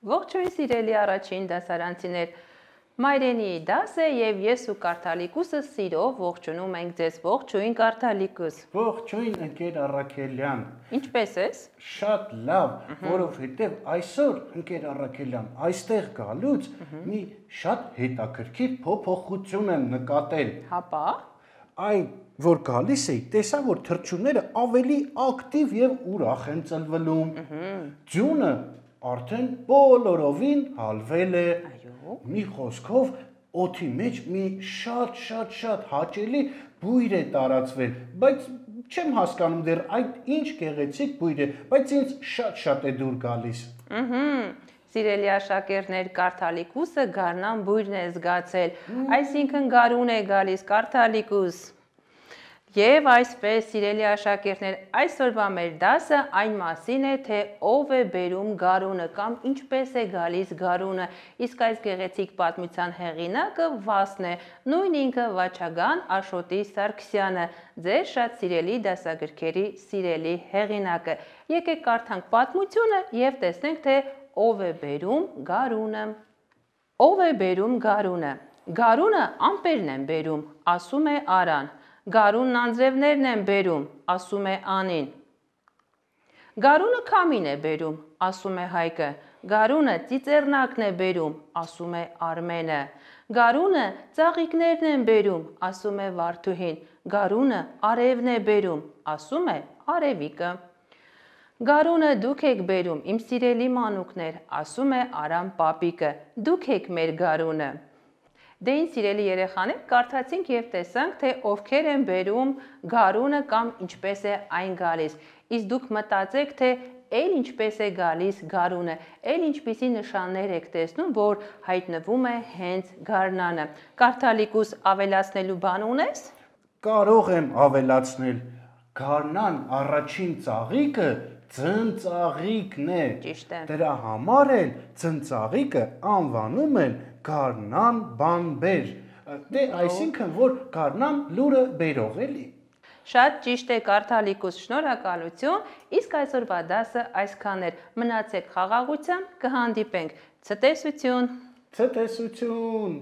Ողջույն սիրելի առաջին դասարանցիներ, մայրենիի դաս է և ես ու Կարդալիկուսը սիրով ողջունում ենք ձեզ, ողջույն Կարդալիկուս։ Ողջույն ընկեր Առաքելյան։ Ինչպես ես։ Շատ լավ, որովհետև այսօր ընկեր Առաքելյան, այստեղ գալուց մի շատ հետաքրքիր փոփոխություն եմ նկատել։ Հապա։ Այն որ գալիս էի, տեսա որ թռչունները ավելի ակտիվ եւ ուրախ են ծլվելում։ Ձյունը արդեն բոլորովին հալվել է։ Մի խոսքով օդի մեջ մի շատ հաճելի բույր է տարածվել, բայց չեմ հասկանում դեռ այդ ինչ գեղեցիկ բույր է, բայց ինձ շատ է դուր գալիս։ Սիրելի աշակերտներ, Կարդալիկուսը գարնան բույրն է զգացել, այսինքն գարուն է գալիս Կարդալիկուս։ Եվ այսպես, սիրելի աշակերտներ, այսօրվա մեր դասը այն մասին է, թե ով է բերում գարունը կամ ինչպես է գալիս գարունը, իսկ այս գեղեցիկ պատմության հեղինակը Վասն է, նույն ինքը Վաչագան Աշոտի Սարգսյանը, ձեր շատ սիրելի դասագրքերի սիրելի հեղինակը։ Եկեք կարդանք պատմությունը և տեսնենք, թե ով է բերում գարունը։ Ով է բերում գարունը։ Գարունը ամպերն են բերում, ասում է Արան։ Գարունն անձրևներն են բերում, ասում է Անին։ Գարունը քամին է բերում, ասում է Հայկը։ Գարունը ծիծեռնակն է բերում, ասում է Արմենը։ Գարունը ծաղիկներն են բերում, ասում է Վարդուհին։ Գարունը արևն է բերում, ասում է Արևիկը։ Գարունը դուք եք բերում, իմ սիրելի մանուկներ, ասում է Արամ պապիկը։ Դուք եք մեր գարունը։ Դե ինչ սիրելի երեխաներ, կարդացինք և տեսանք, թե ովքեր են բերում գարունը կամ ինչպես է այն գալիս։ Իսկ դուք մտածեք, թե էլ ինչպես է գալիս գարունը, էլ ինչպիսի նշաններ եք տեսնում, որ հայտնվում է հենց գարնանը։ Կարդալիկուս, ավելացնելու բան ունես։ Կարող եմ ավելացնել, գարնան առաջին ծաղիկը ձնծաղիկն է։ Ճիշտ է։ Դրա համար էլ ձնծաղիկը անվանում են գարնան բանբեր։ Դե այսինքն որ գարնան լուրը բերող էլի։ Շատ ճիշտ է Կարդալիկուս, շնորհակալություն, իսկ այսօրվա դասը այսքան էր, մնացեք խաղաղությամբ, կհանդիպենք, ցտեսություն։ Ցտեսություն։